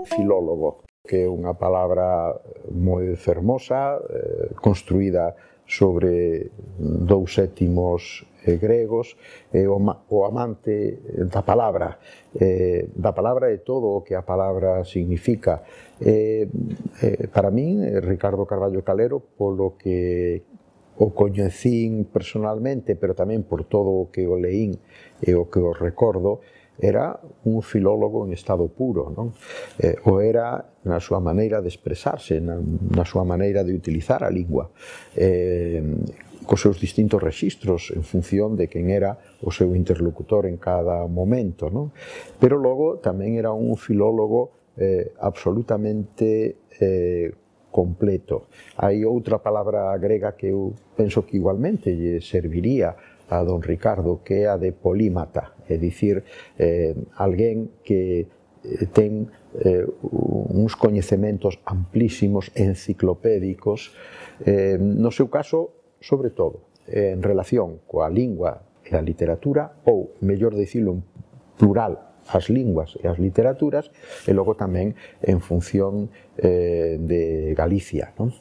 filólogo, que é unha palabra moi fermosa, construída sobre 2 sétimos gregos, o amante da palabra e todo o que a palabra significa. Para min, Ricardo Carballo Calero, polo que o coñecín personalmente, pero tamén por todo o que o leín e o que o recordo, era un filólogo en estado puro, non? O era na súa maneira de expresarse, na súa maneira de utilizar a lingua, cos seus distintos rexistros en función de quen era o seu interlocutor en cada momento, non? Pero logo tamén era un filólogo absolutamente completo. Hai outra palabra grega que eu penso que igualmente lle serviría a don Ricardo, que é a de polímata, é dicir, alguén que ten uns coñecementos amplísimos, enciclopédicos, no seu caso, sobre todo, en relación coa lingua e a literatura, ou, mellor dicilo en plural, as linguas e as literaturas, e logo tamén en función de Galicia, non?